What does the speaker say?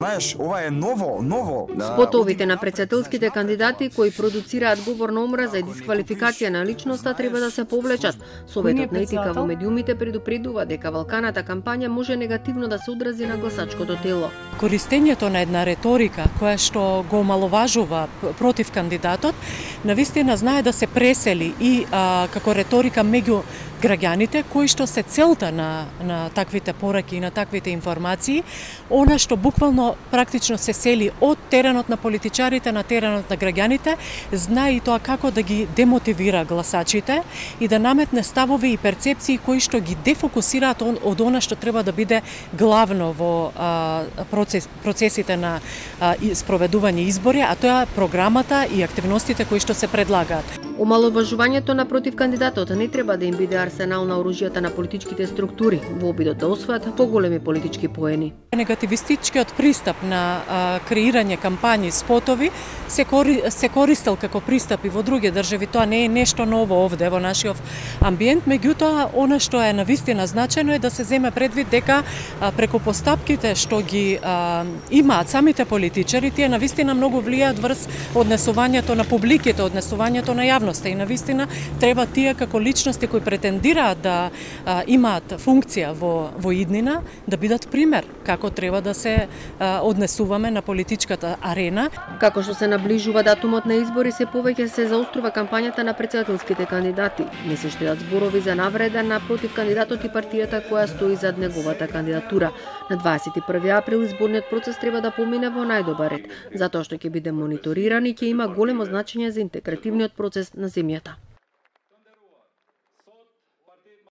Знаеш, ова е ново. Спотовите на председателските кандидати кои продуцираат говор на омраза и дисквалификација на личноста треба да се повлечат. Советот на етика во медиумите предупредува дека валканата кампања може негативно да се одрази на гласачкото тело. Користењето на една реторика која што го омаловажува против кандидатот, навистина знае да се пресели и како реторика меѓу граѓаните кои што се целта на таквите пораки и на таквите информации, она што буквално практично се сели од теренот на политичарите на теренот на граѓаните, знае и тоа како да ги демотивира гласачите и да наметне ставови и перцепции кои што ги дефокусираат од она што треба да биде главно во процесите на спроведување избори, а тоа е програмата и активностите кои што се предлагаат. Омаловажувањето на против кандидатот не треба да им биде арсенал на оружјата на политичките структури во обидот да освојат поголеми политички поени. Негативистичкиот пристап на креирање кампањи, спотови се користел како пристап и во други држави. Тоа не е нешто ново овде во нашиот амбиент, меѓутоа она што е навистина значајно е да се земе предвид дека преку постапките што ги имаат самите политичари, тие навистина многу влијаат врз однесувањето на публиките, однесувањето на јавноста и навистина треба тие како личности кои претендираат да имаат функција во иднина да бидат пример како треба да се однесуваме на политичката арена. Како што се наближува датумот на избори, се повеќе се заострува кампањата на председателските кандидати. Не се штедат зборови за навреда на против кандидатот и партијата која стои зад неговата кандидатура. На 21 април изборниот процес треба да помине во најдобар ред, затоа што ќе биде мониториран и ќе има големо значење за интегративниот процес на земјата.